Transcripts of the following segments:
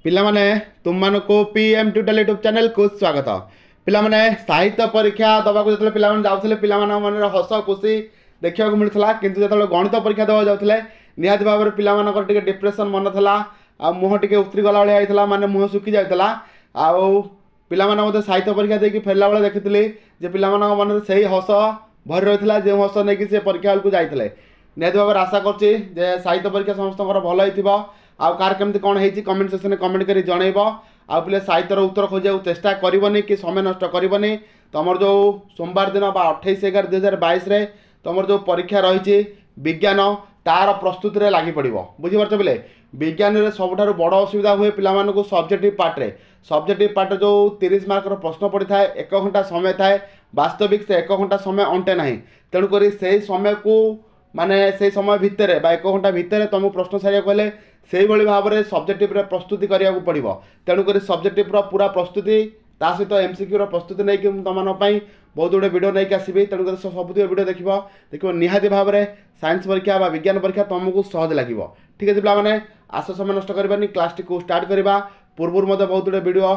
ପିଲାମାନେ, ତୁମମାନଙ୍କୁ P M tutorial YouTube ଚ୍ୟାନେଲକୁ ସ୍ୱାଗତ। ପିଲାମାନେ, ସାହିତ୍ୟ ପରୀକ୍ଷା ଦେବାକୁ ଯେତେବେଳେ ପିଲାମାନେ ଯାଉଥିଲେ, ପିଲାମାନଙ୍କ ମନରେ ହସ ଖୁସି ଦେଖିବାକୁ ମିଳୁଥିଲା। କିନ୍ତୁ ଯେତେବେଳେ ଗଣିତ ପରୀକ୍ଷା ଦେବାକୁ ଯାଉଥିଲେ, ନିହାତି ଭାବରେ ପିଲାମାନଙ୍କର ଟିକେ ଡିପ୍ରେସନ୍ ମନ ଥିଲା ଆଉ ମୁହଁ ଟିକେ ଉତୁରି ଗଲା ଭଳିଆ ହେଇଥିଲା, ମାନେ ମୁହଁ ଶୁଖି ଯାଉଥିଲା। ଆଉ ପିଲାମାନେ ମଧ୍ୟ ସାହିତ୍ୟ ପରୀକ୍ଷା ଦେଇକି ଫେରିଲା ବେଳେ ଦେଖିଥିଲି ଯେ ପିଲାମାନଙ୍କ ମନରେ ସେଇ ହସ ଭରି ରହିଥିଲା, ଯେଉଁ ହସ ନେଇକି ସେ ପରୀକ୍ଷା ହଲ୍କୁ ଯାଇଥିଲେ। ନିହାତି ଭାବରେ ଆଶା କରୁଛି ଯେ ସାହିତ୍ୟ ପରୀକ୍ଷା ସମସ୍ତଙ୍କର ଭଲ ହେଇଥିବ। ଆଉ କାହାର କେମିତି କ'ଣ ହେଇଛି, କମେଣ୍ଟ ସେକ୍ସନରେ କମେଣ୍ଟ କରି ଜଣେଇବ। ଆଉ ପିଲେ, ସାହିତ୍ୟର ଉତ୍ତର ଖୋଜିବାକୁ ଚେଷ୍ଟା କରିବନି କି ସମୟ ନଷ୍ଟ କରିବନି। ତୁମର ଯେଉଁ ସୋମବାର ଦିନ ବା 28/11/2022ରେ ତୁମର ଯେଉଁ ପରୀକ୍ଷା ରହିଛି ବିଜ୍ଞାନ, ତାର ପ୍ରସ୍ତୁତିରେ ଲାଗି ପଡ଼ିବ। ବୁଝିପାରୁଛ ପିଲେ? ବିଜ୍ଞାନରେ ସବୁଠାରୁ ବଡ଼ ଅସୁବିଧା ହୁଏ ପିଲାମାନଙ୍କୁ ସବଜେକ୍ଟିଭ୍ ପାର୍ଟରେ। ସବଜେକ୍ଟିଭ୍ ପାର୍ଟରେ ଯେଉଁ 30 ମାର୍କର ପ୍ରଶ୍ନ ପଡ଼ିଥାଏ, 1 ଘଣ୍ଟା ସମୟ ଥାଏ। ବାସ୍ତବିକ ସେ 1 ଘଣ୍ଟା ସମୟ ଅଣ୍ଟେ ନାହିଁ। ତେଣୁକରି ସେଇ ସମୟକୁ, ମାନେ ସେଇ ସମୟ ଭିତରେ ବା 1 ଘଣ୍ଟା ଭିତରେ ତୁମକୁ ପ୍ରଶ୍ନ ସାରିବାକୁ ହେଲେ ସେଇଭଳି ଭାବରେ ସବଜେକ୍ଟିଭରେ ପ୍ରସ୍ତୁତି କରିବାକୁ ପଡ଼ିବ। ତେଣୁକରି ସବଜେକ୍ଟିଭର ପୁରା ପ୍ରସ୍ତୁତି, ତା ସହିତ ଏମ୍ସିକ୍ୟୁର ପ୍ରସ୍ତୁତି ନେଇକି ମୁଁ ତୁମମାନଙ୍କ ପାଇଁ ବହୁତ ଗୁଡ଼ିଏ ଭିଡ଼ିଓ ନେଇକି ଆସିବି। ତେଣୁକରି ସବୁତିକ ଭିଡ଼ିଓ ଦେଖିବ, ଦେଖିବ, ନିହାତି ଭାବରେ ସାଇନ୍ସ ପରୀକ୍ଷା ବା ବିଜ୍ଞାନ ପରୀକ୍ଷା ତୁମକୁ ସହଜ ଲାଗିବ। ଠିକ୍ ଅଛି ପିଲାମାନେ, ଆସ, ସମୟ ନଷ୍ଟ କରିବାନି, କ୍ଲାସ୍ଟିକୁ ଷ୍ଟାର୍ଟ କରିବା। ପୂର୍ବରୁ ମଧ୍ୟ ବହୁତ ଗୁଡ଼ିଏ ଭିଡ଼ିଓ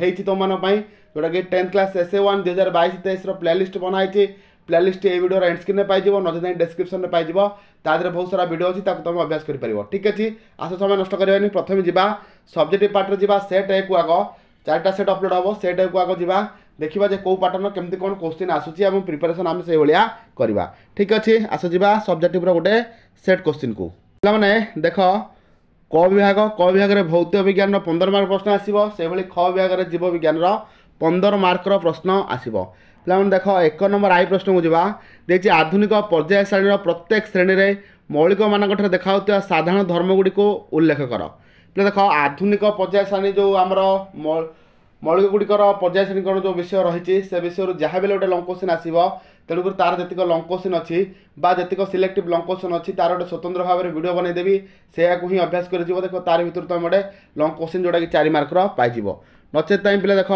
ହେଇଛି ତୁମମାନଙ୍କ ପାଇଁ, ଯେଉଁଟାକି 10th class S A 1 2022-23ର playlist ବନା ହେଇଛି। ପ୍ଲେଲିଷ୍ଟ ଏଇ ଭିଡ଼ିଓର ଏଣ୍ଡ ସ୍କ୍ରିନ୍ରେ ପାଇଯିବ, ନଚେତ୍ ନାହିଁ ଡେସ୍କ୍ରିପ୍ସନ୍ରେ ପାଇଯିବ। ତା ଦେହରେ ବହୁତ ସାରା ଭିଡ଼ିଓ ଅଛି, ତାକୁ ତୁମେ ଅଭ୍ୟାସ କରିପାରିବ। ଠିକ୍ ଅଛି, ଆସ, ସମୟ ନଷ୍ଟ କରିବାନି। ପ୍ରଥମେ ଯିବା ସବଜେକ୍ଟିଭ୍ ପାର୍ଟରେ ଯିବା। ସେଟ୍ ଏକୁ ଆଗ 4ଟା ସେଟ୍ ଅପଲୋଡ଼ ହେବ। ସେଟ୍ ଏକୁ ଆଗ ଯିବା, ଦେଖିବା ଯେ କେଉଁ ପାଟର୍ନ କେମିତି କ'ଣ କୋଶ୍ଚିନ୍ ଆସୁଛି ଏବଂ ପ୍ରିପାରେସନ୍ ଆମେ ସେଇଭଳିଆ କରିବା। ଠିକ୍ ଅଛି, ଆସ ଯିବା ସବଜେକ୍ଟିଭ୍ର ଗୋଟେ ସେଟ୍ କୋଶ୍ଚିନ୍କୁ। ପିଲାମାନେ ଦେଖ, କ ବିଭାଗ, କ ବିଭାଗରେ ଭୌତିକ ବିଜ୍ଞାନର 15 ମାର୍କ ପ୍ରଶ୍ନ ଆସିବ। ସେଭଳି ଖ ବିଭାଗରେ ଜୀବ ବିଜ୍ଞାନର 15 ମାର୍କର ପ୍ରଶ୍ନ ଆସିବ। ପିଲାମାନେ ଦେଖ, 1 ନମ୍ବର I ପ୍ରଶ୍ନକୁ ଯିବା। ଦେଇଛି, ଆଧୁନିକ ପର୍ଯ୍ୟାୟ ଶ୍ରେଣୀର ପ୍ରତ୍ୟେକ ଶ୍ରେଣୀରେ ମୌଳିକମାନଙ୍କଠାରେ ଦେଖାଯାଉଥିବା ସାଧାରଣ ଧର୍ମଗୁଡ଼ିକୁ ଉଲ୍ଲେଖ କର। ପିଲା ଦେଖ, ଆଧୁନିକ ପର୍ଯ୍ୟାୟ ଶ୍ରେଣୀ ଯେଉଁ ଆମର ମୌଳିକ ଗୁଡ଼ିକର ପର୍ଯ୍ୟାୟ ଶ୍ରେଣୀକରଣ ଯେଉଁ ବିଷୟ ରହିଛି, ସେ ବିଷୟରୁ ଯାହା ବି ହେଲେ ଗୋଟେ ଲଙ୍ଗ କୋଶ୍ଚିନ୍ ଆସିବ। ତେଣୁକରି ତାର ଯେତିକ ଲଙ୍ଗ କୋଶ୍ଚିନ୍ ଅଛି ବା ଯେତିକ ସିଲେକ୍ଟିଭ୍ ଲଙ୍ଗ କୋଶ୍ଚିନ୍ ଅଛି, ତାର ଗୋଟେ ସ୍ୱତନ୍ତ୍ର ଭାବରେ ଭିଡ଼ିଓ ବନେଇଦେବି। ସେଇଆକୁ ହିଁ ଅଭ୍ୟାସ କରିଯିବ। ଦେଖ, ତାର ଭିତରୁ ତୁମେ ଗୋଟେ ଲଙ୍ଗ କୋଶ୍ଚିନ୍ ଯେଉଁଟାକି 4 ମାର୍କର ପାଇଯିବ। ନଚେତ୍ ପାଇଁ ପିଲା ଦେଖ,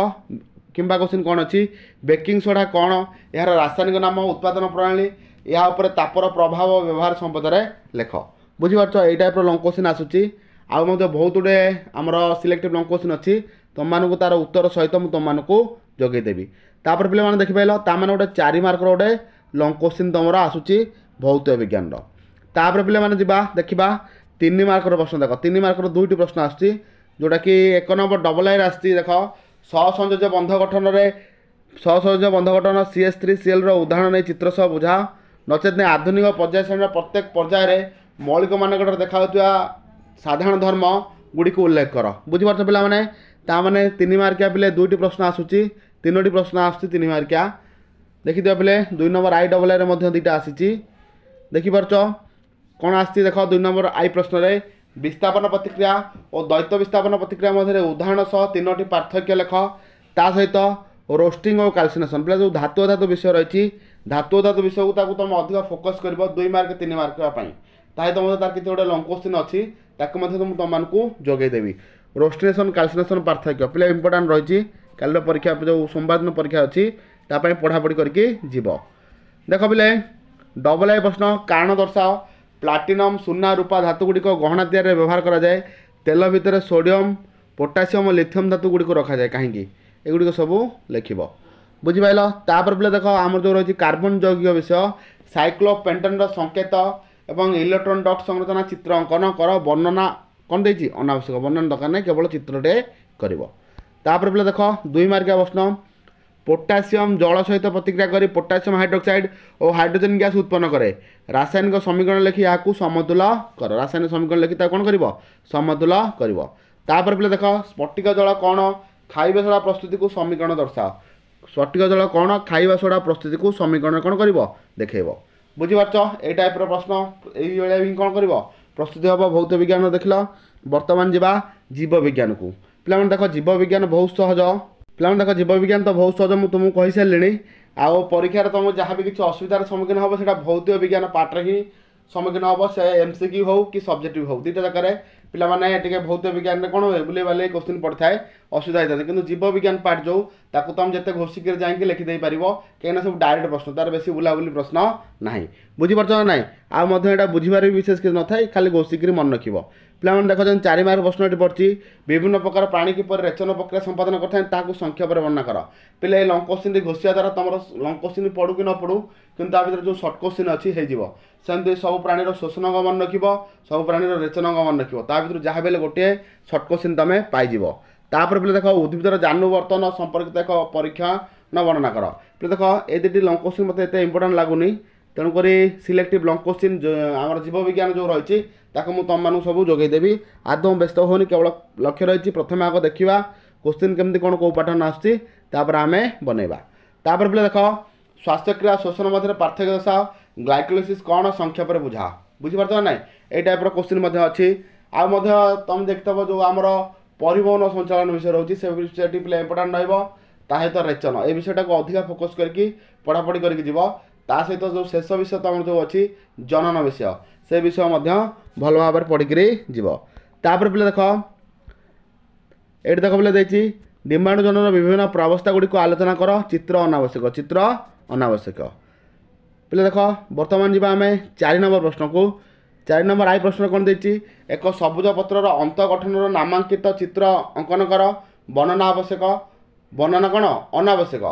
କିମ୍ବା କୋଶ୍ଚିନ୍ କ'ଣ ଅଛି? ବେକିଂ ସୋଡ଼ା କ'ଣ, ଏହାର ରାସାୟନିକ ନାମ, ଉତ୍ପାଦନ ପ୍ରଣାଳୀ, ଏହା ଉପରେ ତାପର ପ୍ରଭାବ, ବ୍ୟବହାର ସମ୍ପଦରେ ଲେଖ। ବୁଝିପାରୁଛ? ଏଇ ଟାଇପ୍ର ଲଙ୍ଗ କୋଶ୍ଚିନ୍ ଆସୁଛି। ଆଉ ମଧ୍ୟ ବହୁତ ଗୁଡ଼ିଏ ଆମର ସିଲେକ୍ଟିଭ୍ ଲଙ୍ଗ କୋଶ୍ଚିନ୍ ଅଛି, ତୁମମାନଙ୍କୁ ତାର ଉତ୍ତର ସହିତ ମୁଁ ତୁମମାନଙ୍କୁ ଯୋଗାଇଦେବି। ତାପରେ ପିଲାମାନେ ଦେଖିପାରିଲ, ତାମାନେ ଗୋଟେ 4 ମାର୍କର ଗୋଟେ ଲଙ୍ଗ କୋଶ୍ଚିନ୍ ତୁମର ଆସୁଛି ଭୌତିକ ବିଜ୍ଞାନର। ତାପରେ ପିଲାମାନେ ଯିବା, ଦେଖିବା 3 ମାର୍କର ପ୍ରଶ୍ନ। ଦେଖ, 3 ମାର୍କର 2ଟି ପ୍ରଶ୍ନ ଆସୁଛି, ଯେଉଁଟାକି 1 ନମ୍ବର ଡବଲ୍ ଆଇରେ ଆସିଛି। ଦେଖ, ସହସଂଯୋଜ୍ୟ ବନ୍ଧ ଗଠନରେ, ସହସଂଯୋଜ୍ୟ ବନ୍ଧ ଗଠନ ସି ଏସ୍ ଥ୍ରୀ ସିଏଲ୍ର ଉଦାହରଣ ନେଇ ଚିତ୍ର ସହ ବୁଝାଅ। ନଚେତ୍ ନାହିଁ ଆଧୁନିକ ପର୍ଯ୍ୟାୟ ଶ୍ରେଣୀର ପ୍ରତ୍ୟେକ ପର୍ଯ୍ୟାୟରେ ମୌଳିକମାନଙ୍କଠାରେ ଦେଖାଯାଉଥିବା ସାଧାରଣ ଧର୍ମ ଗୁଡ଼ିକୁ ଉଲ୍ଲେଖ କର। ବୁଝିପାରୁଛ ପିଲାମାନେ? ତାମାନେ 3 ମାର୍କିଆ ପିଲେ 2ଟି ପ୍ରଶ୍ନ ଆସୁଛି, 3ଟି ପ୍ରଶ୍ନ ଆସୁଛି 3 ମାର୍କିଆ। ଦେଖିଦିଅ ପିଲେ, 2 ନମ୍ବର I double ଆଇରେ ମଧ୍ୟ 2ଟା ଆସିଛି। ଦେଖିପାରୁଛ କ'ଣ ଆସିଛି? ଦେଖ, 2 ନମ୍ବର I ପ୍ରଶ୍ନରେ ବିସ୍ଥାପନ ପ୍ରତିକ୍ରିୟା ଓ ଦ୍ୱୈତ ବିସ୍ଥାପନ ପ୍ରତିକ୍ରିୟା ମଧ୍ୟରେ ଉଦାହରଣ ସହ 3ଟି ପାର୍ଥକ୍ୟ ଲେଖ। ତା ସହିତ ରୋଷ୍ଟିଂ ଓ କାଲସିନେସନ୍। ପିଲା, ଯେଉଁ ଧାତୁ ଅଧାତୁ ବିଷୟ ରହିଛି, ଧାତୁ ଅଧାତୁ ବିଷୟକୁ ତାକୁ ତୁମେ ଅଧିକ ଫୋକସ୍ କରିବ 2 ମାର୍କ 3 ମାର୍କ ପାଇଁ। ତା ସହିତ ମଧ୍ୟ ତାର କିଛି ଗୋଟେ ଲଙ୍ଗ କୋଶ୍ଚିନ୍ ଅଛି, ତାକୁ ମଧ୍ୟ ମୁଁ ତୁମମାନଙ୍କୁ ଯୋଗାଇଦେବି। ରୋଷ୍ଟିନେସନ୍ କାଲସିନେସନ୍ ପାର୍ଥକ୍ୟ ପିଲା ଇମ୍ପୋର୍ଟାଣ୍ଟ ରହିଛି। କାଲିର ପରୀକ୍ଷା, ଯେଉଁ ସୋମବାର ଦିନ ପରୀକ୍ଷା ଅଛି, ତା ପାଇଁ ପଢ଼ାପଢ଼ି କରିକି ଯିବ। ଦେଖ ପିଲେ, ଡବଲ୍ I ପ୍ରଶ୍ନ, କାରଣ ଦର୍ଶାଅ ପ୍ଲାଟିନମ୍, ସୁନା, ରୂପା ଧାତୁ ଗୁଡ଼ିକ ଗହଣା ତିଆରିରେ ବ୍ୟବହାର କରାଯାଏ। ତେଲ ଭିତରେ ସୋଡ଼ିୟମ୍, ପୋଟାସିୟମ୍ ଓ ଲିଥିୟମ୍ ଧାତୁ ଗୁଡ଼ିକୁ ରଖାଯାଏ କାହିଁକି? ଏଗୁଡ଼ିକ ସବୁ ଲେଖିବ। ବୁଝିପାରିଲ? ତାପରେ ପିଲା ଦେଖ, ଆମର ଯେଉଁ ରହିଛି କାର୍ବନ ଯୌଗିକ ବିଷୟ, ସାଇକ୍ଲୋପେଣ୍ଟେନ୍ର ସଂକେତ ଏବଂ ଇଲେକ୍ଟ୍ରନ୍ ଡଟ୍ ସଂରଚନା ଚିତ୍ର ଅଙ୍କନ କର। ବର୍ଣ୍ଣନା କ'ଣ ଦେଇଛି? ଅନାବଶ୍ୟକ, ବର୍ଣ୍ଣନା ଦରକାର ନାହିଁ, କେବଳ ଚିତ୍ରଟେ କରିବ। ତାପରେ ପିଲା ଦେଖ, 2 ମାର୍କିଆ ପ୍ରଶ୍ନ, ପୋଟାସିୟମ୍ ଜଳ ସହିତ ପ୍ରତିକ୍ରିୟା କରି ପୋଟାସିୟମ୍ ହାଇଡ୍ରୋକ୍ସାଇଡ୍ ଓ ହାଇଡ୍ରୋଜେନ୍ ଗ୍ୟାସ୍ ଉତ୍ପନ୍ନ କରେ। ରାସାୟନିକ ସମୀକରଣ ଲେଖି ଏହାକୁ ସମତୁଲ କର। ରାସାୟନିକ ସମୀକରଣ ଲେଖି ତାକୁ କ'ଣ କରିବ? ସମତୁଲ କରିବ। ତାପରେ ପିଲା ଦେଖ, ସ୍ଫଟିକ ଜଳ କ'ଣ, ଖାଇବା ସୋଡ଼ା ପ୍ରସ୍ତୁତିକୁ ସମୀକରଣ ଦର୍ଶାଅ। ସ୍ଫଟିକ ଜଳ କ'ଣ, ଖାଇବା ସୋଡ଼ା ପ୍ରସ୍ତୁତିକୁ ସମୀକରଣ କ'ଣ କରିବ? ଦେଖେଇବ। ବୁଝିପାରୁଛ? ଏଇ ଟାଇପ୍ର ପ୍ରଶ୍ନ ଏଇଭଳିଆ ହିଁ କ'ଣ କରିବ, ପ୍ରସ୍ତୁତି ହେବ। ଭୌତିକ ବିଜ୍ଞାନ ଦେଖିଲ, ବର୍ତ୍ତମାନ ଯିବା ଜୀବ ବିଜ୍ଞାନକୁ। ପିଲାମାନେ ଦେଖ, ଜୀବ ବିଜ୍ଞାନ ବହୁତ ସହଜ। ପିଲାମାନେ ଦେଖ, ଜୀବ ବିଜ୍ଞାନ ତ ବହୁତ ସହଜ, ମୁଁ ତୁମକୁ କହିସାରିଲିଣି। ଆଉ ପରୀକ୍ଷାରେ ତୁମକୁ ଯାହା ବି କିଛି ଅସୁବିଧାର ସମ୍ମୁଖୀନ ହେବ, ସେଇଟା ଭୌତିକ ବିଜ୍ଞାନ ପାର୍ଟରେ ହିଁ ସମ୍ମୁଖୀନ ହେବ। ସେ ଏମ୍ ସି କ୍ୟୁ ହେଉ କି ସବଜେକ୍ଟିଭ୍ ହେଉ, 2ଟା ଜାଗାରେ ପିଲାମାନେ ଟିକେ ଭୌତିକ ବିଜ୍ଞାନରେ କ'ଣ ହୁଏ, ବୁଲେଇ ବାଲେଇ କୋଶ୍ଚିନ୍ ପଡ଼ିଥାଏ, ଅସୁବିଧା ହେଇଥାନ୍ତି। କିନ୍ତୁ ଜୀବ ବିଜ୍ଞାନ ପାର୍ଟ ଯେଉଁ, ତାକୁ ତୁମେ ଯେତେ ଘୋଷିକିରି ଯାଇକି ଲେଖିଦେଇପାରିବ, କାହିଁକିନା ସବୁ ଡାଇରେକ୍ଟ ପ୍ରଶ୍ନ, ତାର ବେଶୀ ବୁଲାବୁଲି ପ୍ରଶ୍ନ ନାହିଁ। ବୁଝିପାରୁଛ ନା ନାହିଁ? ଆଉ ମଧ୍ୟ ଏଇଟା ବୁଝିବାରେ ବି ବିଶେଷ କିଛି ନଥାଏ, ଖାଲି ଘୋଷିକିରି ମନେ ରଖିବ। ପିଲାମାନେ ଦେଖ, ଯେମିତି 4 ମାର୍କ ପ୍ରଶ୍ନଟି ପଡ଼ିଛି, ବିଭିନ୍ନ ପ୍ରକାର ପ୍ରାଣୀ କିପରି ରେଚନ ପ୍ରକ୍ରିୟା ସମ୍ପାଦନ କରିଥାନ୍ତି ତାହାକୁ ସଂକ୍ଷେପରେ ବର୍ଣ୍ଣନା କର। ପିଲା, ଏ ଲଙ୍ଗ କୋଶ୍ଚିନ୍ଟି ଘୋଷିବା ଦ୍ୱାରା ତୁମର ଲଙ୍ଗ କୋଶ୍ଚିନ୍ ପଡ଼ୁ କି ନ ପଡ଼ୁ, କିନ୍ତୁ ତା ଭିତରେ ଯେଉଁ ସର୍ଟ କୋଶ୍ଚିନ୍ ଅଛି ହେଇଯିବ। ସେମିତି ସବୁ ପ୍ରାଣୀର ଶୋଷଣ ଅଙ୍ଗ ମନେ ରଖିବ, ସବୁ ପ୍ରାଣୀର ରେଚନ ଅଙ୍ଗ ମନେ ରଖିବ, ତା ଭିତରୁ ଯାହା ବି ହେଲେ ଗୋଟିଏ ସର୍ଟ କୋଶ୍ଚିନ୍ ତୁମେ ପାଇଯିବ। ତାପରେ ପିଲା ଦେଖ, ଉଦ୍ଭିଦର ଜାନୁବର୍ତ୍ତନ ସମ୍ପର୍କିତ ଏକ ପରୀକ୍ଷା ନା ବର୍ଣ୍ଣନା କର। ପିଲା ଦେଖ, ଏ ଦୁଇଟି ଲଙ୍ଗ କୋଶ୍ଚିନ୍ ମୋତେ ଏତେ ଇମ୍ପୋର୍ଟାଣ୍ଟ ଲାଗୁନି, ତେଣୁକରି ସିଲେକ୍ଟିଭ୍ ଲଙ୍ଗ କୋଶ୍ଚିନ୍ ଆମର ଜୀବବିଜ୍ଞାନ ଯେଉଁ ରହିଛି ତାକୁ ମୁଁ ତୁମମାନଙ୍କୁ ସବୁ ଯୋଗାଇଦେବି। ଆଦୌ ବ୍ୟସ୍ତ ହେଉନି, କେବଳ ଲକ୍ଷ୍ୟ ରହିଛି ପ୍ରଥମେ ଆଗ ଦେଖିବା କୋଶ୍ଚିନ୍ କେମିତି କ'ଣ କେଉଁ ପାଟର୍ନ ଆସୁଛି, ତାପରେ ଆମେ ବନେଇବା। ତାପରେ ପିଲା ଦେଖ, ଶ୍ୱାସକ୍ରିୟା ଶୋଷଣ ମଧ୍ୟରେ ପାର୍ଥକ୍ୟ ଦର୍ଶାଅ, ଗ୍ଲାଇକୋଲିସିସ୍ କ'ଣ ସଂକ୍ଷେପରେ ବୁଝାଅ। ବୁଝିପାରୁଛ ନା ନାଇଁ? ଏଇ ଟାଇପ୍ର କୋଶ୍ଚିନ୍ ମଧ୍ୟ ଅଛି। ଆଉ ମଧ୍ୟ ତୁମେ ଦେଖିଥିବ ଯେଉଁ ଆମର ପରିବହନ ସଞ୍ଚାଳନ ବିଷୟ ରହୁଛି, ସେ ବିଷୟଟି ପିଲା ଇମ୍ପୋର୍ଟାଣ୍ଟ ରହିବ। ତା ସହିତ ରେଚନ, ଏ ବିଷୟଟାକୁ ଅଧିକା ଫୋକସ୍ କରିକି ପଢ଼ାପଢ଼ି କରିକି ଯିବ। ତା ସହିତ ଯେଉଁ ଶେଷ ବିଷୟ ତୁମର ଯେଉଁ ଅଛି ଜନନ ବିଷୟ, ସେ ବିଷୟ ମଧ୍ୟ ଭଲ ଭାବରେ ପଢ଼ିକିରି ଯିବ। ତାପରେ ପିଲା ଦେଖ, ଏଇଠି ଦେଖ ପିଲା ଦେଇଛି ଡିମ୍ବାଣୁ ଜନନର ବିଭିନ୍ନ ପ୍ରାବସ୍ଥା ଗୁଡ଼ିକୁ ଆଲୋଚନା କର, ଚିତ୍ର ଅନାବଶ୍ୟକ, ଚିତ୍ର ଅନାବଶ୍ୟକ। ପିଲା ଦେଖ, ବର୍ତ୍ତମାନ ଯିବା ଆମେ 4 ନମ୍ବର ପ୍ରଶ୍ନକୁ। 4 ନମ୍ବର I ପ୍ରଶ୍ନ କ'ଣ ଦେଇଛି? ଏକ ସବୁଜ ପତ୍ରର ଅନ୍ତଃଗଠନର ନାମାଙ୍କିତ ଚିତ୍ର ଅଙ୍କନ କର, ବର୍ଣ୍ଣନା ଆବଶ୍ୟକ, ବର୍ଣ୍ଣନା କ'ଣ ଅନାବଶ୍ୟକ।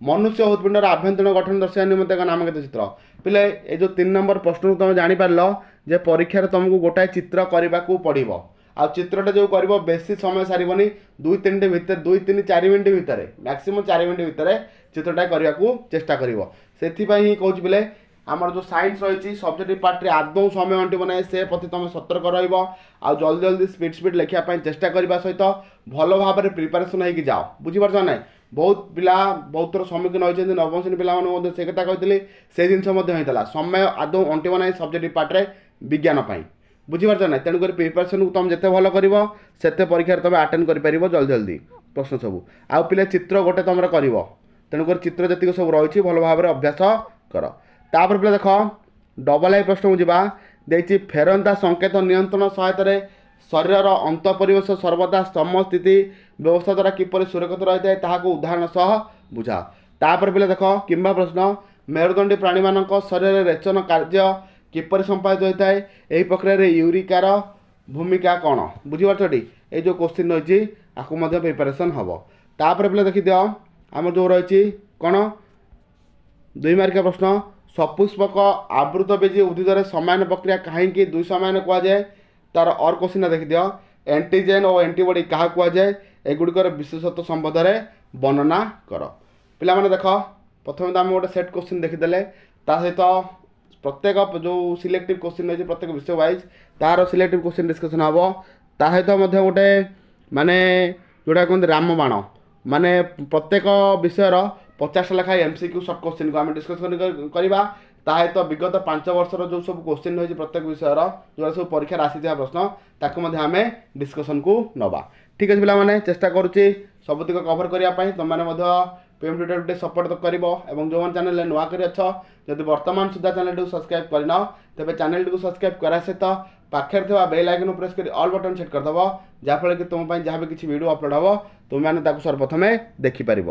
ମନୁଷ୍ୟ ହୃତ୍ପିଣ୍ଡର ଆଭ୍ୟନ୍ତରୀଣ ଗଠନ ଦର୍ଶାଇବା ନିମନ୍ତେ ଏକ ନାମାଙ୍କିତ ଚିତ୍ର। ପିଲେ, ଏ ଯେଉଁ 3 ନମ୍ବର ପ୍ରଶ୍ନକୁ ତୁମେ ଜାଣିପାରିଲ ଯେ ପରୀକ୍ଷାରେ ତୁମକୁ ଗୋଟାଏ ଚିତ୍ର କରିବାକୁ ପଡ଼ିବ, ଆଉ ଚିତ୍ରଟା ଯେଉଁ କରିବ ବେଶୀ ସମୟ ସାରିବନି, 2 3 ଭିତରେ, 2 3 4 ମିନିଟ୍ ଭିତରେ, ମ୍ୟାକ୍ସିମମ୍ 4 ମିନିଟ୍ ଭିତରେ ଚିତ୍ରଟା କରିବାକୁ ଚେଷ୍ଟା କରିବ। ସେଥିପାଇଁ ହିଁ କହୁଛି ପିଲେ, ଆମର ଯେଉଁ ସାଇନ୍ସ ରହିଛି ସବଜେକ୍ଟିଭ୍ ପାର୍ଟରେ ଆଦୌ ସମୟ ଅଣ୍ଟିବ ନାହିଁ, ସେ ପ୍ରତି ତୁମେ ସତର୍କ ରହିବ। ଆଉ ଜଲ୍ଦି ଜଲ୍ଦି ସ୍ପିଡ଼ ସ୍ପିଡ଼ ଲେଖିବା ପାଇଁ ଚେଷ୍ଟା କରିବା ସହିତ ଭଲ ଭାବରେ ପ୍ରିପାରେସନ୍ ହେଇକି ଯାଅ। ବୁଝିପାରୁଛ ନା ନାହିଁ? ବହୁତ ପିଲା ବହୁତ ଥର ସମ୍ମୁଖୀନ ହୋଇଛନ୍ତି। ନବମ ଶ୍ରେଣୀ ପିଲାମାନଙ୍କୁ ମଧ୍ୟ ସେ କଥା କହିଥିଲି, ସେ ଜିନିଷ ମଧ୍ୟ ହେଇଥିଲା। ସମୟ ଆଦୌ ଅଣ୍ଟିବ ନାହିଁ ସବଜେକ୍ଟିଭ୍ ପାର୍ଟରେ ବିଜ୍ଞାନ ପାଇଁ। ବୁଝିପାରୁଛ ନା? ତେଣୁକରି ପ୍ରିପାରେସନ୍କୁ ତୁମେ ଯେତେ ଭଲ କରିବ ସେତେ ପରୀକ୍ଷାରେ ତୁମେ ଆଟେଣ୍ଡ କରିପାରିବ ଜଲ୍ଦି ଜଲ୍ଦି ପ୍ରଶ୍ନ ସବୁ। ଆଉ ପିଲା, ଚିତ୍ର ଗୋଟେ ତୁମର କରିବ, ତେଣୁକରି ଚିତ୍ର ଯେତିକି ସବୁ ରହିଛି ଭଲ ଭାବରେ ଅଭ୍ୟାସ କର। ତାପରେ ପିଲା ଦେଖ, ଡବଲ୍ I ପ୍ରଶ୍ନକୁ ଯିବା। ଦେଇଛି ଫେରନ୍ତା ସଂକେତ ନିୟନ୍ତ୍ରଣ ସହାୟତାରେ ଶରୀରର ଅନ୍ତ ପରିବେଶ ସର୍ବଦା ସମସ୍ଥିତି ବ୍ୟବସ୍ଥା ଦ୍ୱାରା କିପରି ସୁରକ୍ଷିତ ରହିଥାଏ ତାହାକୁ ଉଦାହରଣ ସହ ବୁଝାଅ। ତାପରେ ପିଲା ଦେଖ, କିମ୍ବା ପ୍ରଶ୍ନ, ମେରୁଦଣ୍ଡୀ ପ୍ରାଣୀମାନଙ୍କ ଶରୀରରେ ରେଚନ କାର୍ଯ୍ୟ କିପରି ସମ୍ପାଦିତ ହୋଇଥାଏ, ଏହି ପ୍ରକ୍ରିୟାରେ ୟୁରିକାର ଭୂମିକା କ'ଣ? ବୁଝିପାରୁଛଟି? ଏଇ ଯେଉଁ କୋଶ୍ଚିନ୍ ରହିଛି ଆକୁ ମଧ୍ୟ ପ୍ରିପାରେସନ୍ ହେବ। ତାପରେ ପିଲା ଦେଖିଦିଅ, ଆମର ଯେଉଁ ରହିଛି କ'ଣ 2 ମାର୍କିଆ ପ୍ରଶ୍ନ, ସପୁଷ୍ପକ ଆବୃତବୀଜୀ ଉଦ୍ଭିଦରେ ସମାୟନ ପ୍ରକ୍ରିୟା କାହିଁକି ଦୁଇ ସମାୟନ କୁହାଯାଏ? ତାର ଅର୍ କୋଶ୍ଚିନ୍ଟା ଦେଖିଦିଅ, ଆଣ୍ଟିଜେନ୍ ଓ ଆଣ୍ଟିବଡି କାହା କୁହାଯାଏ, ଏଗୁଡ଼ିକର ବିଶେଷତ୍ୱ ସମ୍ବନ୍ଧରେ ବର୍ଣ୍ଣନା କର। ପିଲାମାନେ ଦେଖ, ପ୍ରଥମେ ତ ଆମେ ଗୋଟେ ସେଟ୍ କୋଶ୍ଚିନ୍ ଦେଖିଦେଲେ, ତା ସହିତ ପ୍ରତ୍ୟେକ ଯେଉଁ ସିଲେକ୍ଟିଭ୍ କୋଶ୍ଚିନ୍ ରହିଛି ପ୍ରତ୍ୟେକ ବିଷୟ ୱାଇଜ୍ ତାର ସିଲେକ୍ଟିଭ୍ କୋଶ୍ଚିନ୍ ଡିସ୍କସନ୍ ହେବ। ତା ସହିତ ମଧ୍ୟ ଗୋଟେ ମାନେ ଯେଉଁଟା କୁହନ୍ତି ରାମବାଣ, ମାନେ ପ୍ରତ୍ୟେକ ବିଷୟର 50ଟା ଲେଖାଏଁ ଏମ୍ ସି କ୍ୟୁ ସର୍ଟ କୋଶ୍ଚିନ୍କୁ ଆମେ ଡିସ୍କସନ୍ କରିବା। ତା ସହିତ ବିଗତ 5 ବର୍ଷର ଯେଉଁ ସବୁ କୋଶ୍ଚିନ୍ ରହିଛି ପ୍ରତ୍ୟେକ ବିଷୟର, ଯେଉଁଟା ସବୁ ପରୀକ୍ଷାରେ ଆସିଥିବା ପ୍ରଶ୍ନ, ତାକୁ ମଧ୍ୟ ଆମେ ଡିସ୍କସନ୍କୁ ନେବା। ଠିକ୍ ଅଛି ପିଲାମାନେ, ଚେଷ୍ଟା କରୁଛି ସବୁତିକ କଭର୍ କରିବା ପାଇଁ। ତୁମେମାନେ ମଧ୍ୟ ପିଏମ୍ ଟ୍ୟୁଟୋରିଆଲ୍ ଟିକେ ସପୋର୍ଟ କରିବ, ଏବଂ ଯେଉଁମାନେ ଚ୍ୟାନେଲରେ ନୂଆ କରି ଅଛ, ଯଦି ବର୍ତ୍ତମାନ ସୁଦ୍ଧା ଚ୍ୟାନେଲଟିକୁ ସବସ୍କ୍ରାଇବ୍ କରିନ, ତେବେ ଚ୍ୟାନେଲଟିକୁ ସବସ୍କ୍ରାଇବ୍ କରିବା ସହିତ ପାଖରେ ଥିବା ବେଲ୍ ଆଇକନ୍ ପ୍ରେସ୍ କରି ଅଲ୍ ବଟନ୍ ସେଟ୍ କରିଦେବ, ଯାହାଫଳରେ କି ତୁମ ପାଇଁ ଯାହା ବି କିଛି ଭିଡ଼ିଓ ଅପଲୋଡ଼ ହେବ ତୁମେମାନେ ତାକୁ ସର୍ବପ୍ରଥମେ ଦେଖିପାରିବ।